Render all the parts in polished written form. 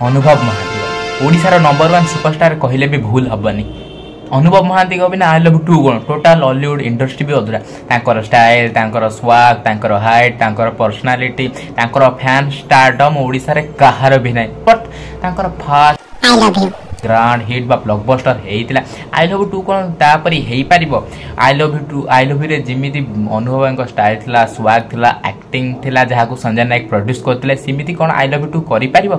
ଅନୁଭବ ମହାନ୍ତି ଓଡ଼ିଶାର number one superstar କହିଲେ ବି ଭୁଲ ହେବନି। ଅନୁଭବ ମହାନ୍ତିଙ୍କ ବିନା I love two କ'ଣ, ଟୋଟାଲ ଅଲିଉଡ଼ ଇଣ୍ଡଷ୍ଟ୍ରି ବି ଅଧୁରା। ତାଙ୍କର ଷ୍ଟାଇଲ୍, ତାଙ୍କର ସ୍ୱାଗ୍, ତାଙ୍କର ହାଇଟ୍, ତାଙ୍କର ପର୍ସନାଲିଟି, ତାଙ୍କର ଫ୍ୟାନ୍ ଷ୍ଟାରଡମ୍ ଓଡ଼ିଶାରେ କାହାର ବି ନାହିଁ। ବଟ୍ ତାଙ୍କର ଫାଷ୍ଟ ଗ୍ରାଣ୍ଡ ହିଟ୍ ବା ବ୍ଲକବଷ୍ଟର ହେଇଥିଲା I love two. କ'ଣ ତାପରି ହେଇପାରିବ? I love two, I love ୟୁରେ ଯେମିତି ଅନୁଭବଙ୍କ ଷ୍ଟାଇଲ୍ ଥିଲା, ସ୍ୱାଗ୍ ଥିଲା, ଆକ୍ଟିଂ ଥିଲା, ଯାହାକୁ ସଞ୍ଜୟ ନାୟକ ପ୍ରଡ୍ୟୁସ୍ କରିଥିଲେ, ସେମିତି କ'ଣ I love two କରିପାରିବ?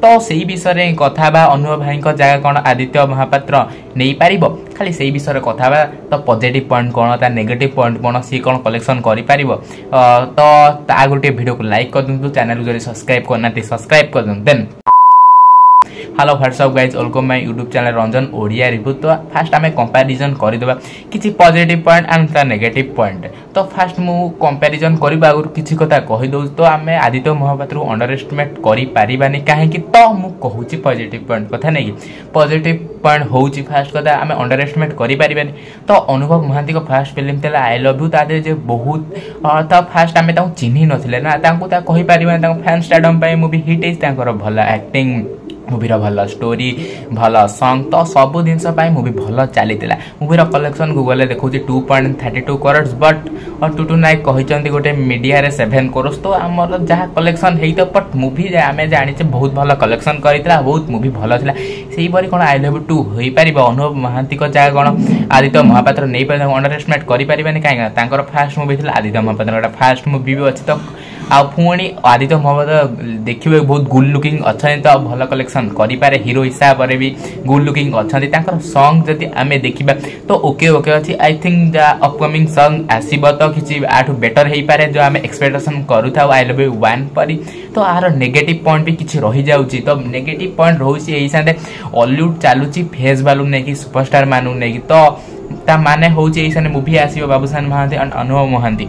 ତ ସେଇ ବିଷୟରେ କଥା ହେବା। ଅନୁଭବ ଭାଇଙ୍କ ଜାଗା କ'ଣ ଆଦିତ୍ୟ ମହାପାତ୍ର ନେଇପାରିବ? ଖାଲି ସେଇ ବିଷୟରେ କଥା ହେବା। ତ ପଜିଟିଭ୍ ପଏଣ୍ଟ କ'ଣ, ତା ନେଗେଟିଭ୍ ପଏଣ୍ଟ କ'ଣ, ସିଏ କ'ଣ କଲେକ୍ସନ୍ କରିପାରିବ? ତ ତା ଆଗରୁ ଟିକେ ଭିଡ଼ିଓକୁ ଲାଇକ୍ କରିଦିଅନ୍ତୁ, ଚ୍ୟାନେଲକୁ ଯଦି ସବସ୍କ୍ରାଇବ୍ କରିନାହାନ୍ତି ସବସ୍କ୍ରାଇବ୍ କରିଦିଅନ୍ତୁ। Then hello, what's up guys, welcome my YouTube channel Ranjan Odia review. ତ ଫାଷ୍ଟ ଆମେ କମ୍ପାରିଜନ୍ କରିଦେବା କିଛି ପଜିଟିଭ୍ ପଏଣ୍ଟ ଆଣ୍ଡ ତା ନେଗେଟିଭ୍ ପଏଣ୍ଟ। ତ ଫାଷ୍ଟ ମୁଁ କମ୍ପାରିଜନ୍ କରିବା ଆଗରୁ କିଛି କଥା କହିଦେଉଛି। ତ ଆମେ ଆଦିତ୍ୟ ମହାପାତ୍ରକୁ ଅଣ୍ଡର ଏଷ୍ଟିମେଟ୍ କରିପାରିବାନି। କାହିଁକି? ତ ମୁଁ କହୁଛି ପଜିଟିଭ୍ ପଏଣ୍ଟ କଥା ନେଇକି। ପଜିଟିଭ୍ ପଏଣ୍ଟ ହେଉଛି, ଫାଷ୍ଟ କଥା, ଆମେ ଅଣ୍ଡର ଏଷ୍ଟିମେଟ୍ କରିପାରିବାନି। ତ ଅନୁଭବ ମହାନ୍ତିଙ୍କ ଫାଷ୍ଟ ଫିଲ୍ମ ଥିଲା I love you. ତା ଦେହରେ ଯେ ବହୁତ, ତ ଫାଷ୍ଟ ଆମେ ତାଙ୍କୁ ଚିହ୍ନି ନଥିଲେ ନା, ତାଙ୍କୁ ତା କହିପାରିବାନି। ତାଙ୍କ ଫ୍ୟାନ୍ ଷ୍ଟାର୍ଡମ୍ ପାଇଁ ମୁଭି ହିଟ୍ ହେଇଛି। ତାଙ୍କର ଭଲ ଆକ୍ଟିଂ, ମୁଭିର ଭଲ ଷ୍ଟୋରି, ଭଲ ସଙ୍ଗ, ତ ସବୁ ଜିନିଷ ପାଇଁ ମୁଭି ଭଲ ଚାଲିଥିଲା। ମୁଭିର କଲେକ୍ସନ୍ ଗୁଗଲରେ ଦେଖାଉଛି 2.32 crores, but Tutu Nayak କହିଛନ୍ତି ଗୋଟେ ମିଡ଼ିଆରେ 7 କ୍ରୋର୍ସ। ତ ଆମର ଯାହା କଲେକ୍ସନ୍ ହେଇଥିବ, ବଟ୍ ମୁଭି ଆମେ ଜାଣିଛେ ବହୁତ ଭଲ କଲେକ୍ସନ୍ କରିଥିଲା, ବହୁତ ମୁଭି ଭଲ ଥିଲା। ସେଇପରି କ'ଣ I love two ହୋଇପାରିବ? ଅନୁଭବ ମହାନ୍ତିଙ୍କ ଜାଗା କ'ଣ ଆଦିତ୍ୟ ମହାପାତ୍ର ନେଇପାରିବ? ଅଣ୍ଡର ଏଷ୍ଟିମେଟ୍ କରିପାରିବାନି। କାହିଁକି ନା ତାଙ୍କର ଫାଷ୍ଟ ମୁଭି ଥିଲା, ଆଦିତ୍ୟ ମହାପାତ୍ରଙ୍କର ଗୋଟେ ଫାଷ୍ଟ ମୁଭି ବି ଅଛି। ତ ଆଉ ପୁଣି ଆଦିତ୍ୟ ମହାପାତ୍ର ଦେଖିବାକୁ ବହୁତ ଗୁଡ୍ ଲୁକିଂ ଅଛନ୍ତି, ତ ଭଲ କଲେକ୍ସନ୍ କରିପାରେ। ହିରୋ ହିସାବରେ ବି ଗୁଡ୍ ଲୁକିଂ ଅଛନ୍ତି। ତାଙ୍କର ସଙ୍ଗ ଯଦି ଆମେ ଦେଖିବା ତ ଓକେ ଓକେ ଅଛି। I think ଯାହା ଅପକମିଂ ସଙ୍ଗ ଆସିବ ତ କିଛି ଆଠୁ ବେଟର ହେଇପାରେ, ଯେଉଁ ଆମେ ଏକ୍ସପେକ୍ଟେସନ୍ କରୁଥାଉ I love you one ପରି। ତ ଆର ନେଗେଟିଭ୍ ପଏଣ୍ଟ ବି କିଛି ରହିଯାଉଛି। ତ ନେଗେଟିଭ୍ ପଏଣ୍ଟ ରହୁଛି ଏଇ ସାଙ୍ଗେ ଅଲିଉଡ଼ ଚାଲୁଛି ଫେସ୍ ଭାଲ୍ୟୁ ନେଇକି, ସୁପରଷ୍ଟାର ମାନଙ୍କୁ ନେଇକି। ତ ତା ମାନେ ହେଉଛି ଏଇ ସାଙ୍ଗେ ମୁଭି ଆସିବ ବାବୁସାନ ମହାନ୍ତି ଆଣ୍ଡ ଅନୁଭବ ମହାନ୍ତି,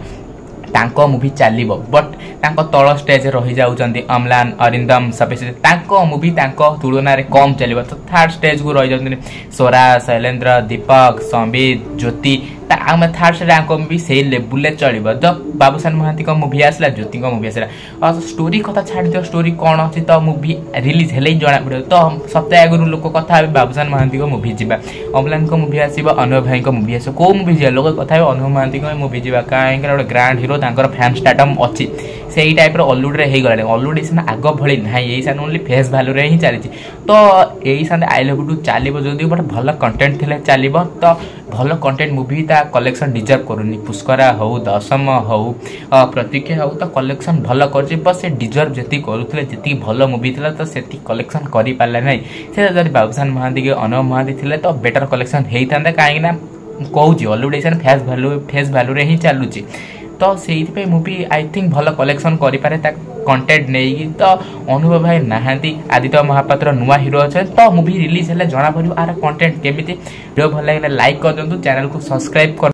ତାଙ୍କ ମୁଭି ଚାଲିବ, ବଟ୍ ତାଙ୍କ ତଳ ଷ୍ଟେଜ୍ ରହିଯାଉଛନ୍ତି ଅମ୍ଲାନ, ଅରିନ୍ଦମ, ସବ୍ୟସାଚୀ, ତାଙ୍କ ମୁଭି ତାଙ୍କ ତୁଳନାରେ କମ୍ ଚାଲିବ। ତ ଥାର୍ଡ଼ ଷ୍ଟେଜ୍କୁ ରହିଯାଉଛନ୍ତି ସ୍ୱରା, ଶୈଲେନ୍ଦ୍ର, ଦୀପକ, ସମ୍ବିତ, ଜ୍ୟୋତି। ଆମେ ଥାର୍ଡ଼ ଷ୍ଟେଜ୍ ଆଙ୍କ ମୁଭି ସେଇ ଲେବୁଲ୍ରେ ଚଳିବ। ତ ବାବୁସାନ ମହାନ୍ତିଙ୍କ ମୁଭି ଆସିଲା, ଜ୍ୟୋତିଙ୍କ ମୁଭି ଆସିଲା, ଷ୍ଟୋରି କଥା ଛାଡ଼ିଦିଅ, ଷ୍ଟୋରି କ'ଣ ଅଛି ତ ମୁଭି ରିଲିଜ୍ ହେଲେ ହିଁ ଜଣାପଡ଼ିବ। ତ ସପ୍ତାହ ଆଗରୁ ଲୋକ କଥା ହେବେ, ବାବୁସାନ ମହାନ୍ତିଙ୍କ ମୁଭି ଯିବା, ଅମ୍ଲାନଙ୍କ ମୁଭି ଆସିବ, ଅନୁଭବ ଭାଇଙ୍କ ମୁଭି ଆସିବ, କେଉଁ ମୁଭି ଯିବା? ଲୋକ କଥା ହେବେ ଅନୁଭବ ମହାନ୍ତିଙ୍କ ମୁଭି ଯିବା, କାହିଁକିନା ଗୋଟେ ଗ୍ରାଣ୍ଡ ହିରୋ, ତାଙ୍କର ଫ୍ୟାନ୍ ଷ୍ଟାର୍ଟମ୍ ଅଛି। ସେଇ ଟାଇପ୍ର ଅଲିଉଡ଼ରେ ହେଇଗଲାଣି। ଅଲିଉଡ଼ ଏଇ ସିନା ଆଗ ଭଳି ନାହିଁ, ଏଇ ସାଙ୍ଗେ ଓନ୍ଲି ଫେସ୍ ଭାଲ୍ୟୁରେ ହିଁ ଚାଲିଛି। ତ ଏଇ ସାଙ୍ଗେ I love two ଚାଲିବ ଯଦି ଗୋଟେ ଭଲ କଣ୍ଟେଣ୍ଟ ଥିଲେ ଚାଲିବ। ତ ଭଲ କଣ୍ଟେଣ୍ଟ ମୁଭି ତା କଲେକ୍ସନ୍ ଡିଜର୍ଭ କରୁନି। ପୁଷ୍କରା ହଉ, ଦଶମ ହଉ, ପ୍ରତୀକ୍ଷା ହଉ, ତ କଲେକ୍ସନ୍ ଭଲ କରୁଛି, ବଟ୍ ସେ ଡିଜର୍ଭ ଯେତିକି କରୁଥିଲେ, ଯେତିକି ଭଲ ମୁଭି ଥିଲା, ତ ସେତିକି କଲେକ୍ସନ୍ କରିପାରିଲା ନାହିଁ। ସେ ଯଦି ବାବୁସାନ ମହାନ୍ତି କି ଅନୁଭବ ମହାନ୍ତି ଥିଲେ ତ ବେଟର କଲେକ୍ସନ୍ ହେଇଥାନ୍ତା। କାହିଁକିନା କହୁଛି, ଅଲିଉଡ଼ ଏଇ ଫେସ୍ ଭ୍ୟାଲୁରେ ହିଁ ଚାଲୁଛି। ତ ସେଇଥିପାଇଁ ମୁଭି I think ଭଲ କଲେକ୍ସନ୍ କରିପାରେ ତା କଣ୍ଟେଣ୍ଟ ନେଇକି। ତ ଅନୁଭବ ଭାଇ ନାହାନ୍ତି, ଆଦିତ୍ୟ ମହାପାତ୍ର ନୂଆ ହିରୋ ଅଛନ୍ତି। ତ ମୁଭି ରିଲିଜ୍ ହେଲେ ଜଣାପଡ଼ିବ ଆର କଣ୍ଟେଣ୍ଟ କେମିତି। ଭିଡ଼ିଓ ଭଲ ଲାଗିଲେ ଲାଇକ୍ କରିଦିଅନ୍ତୁ, ଚ୍ୟାନେଲକୁ ସବସ୍କ୍ରାଇବ୍ କରି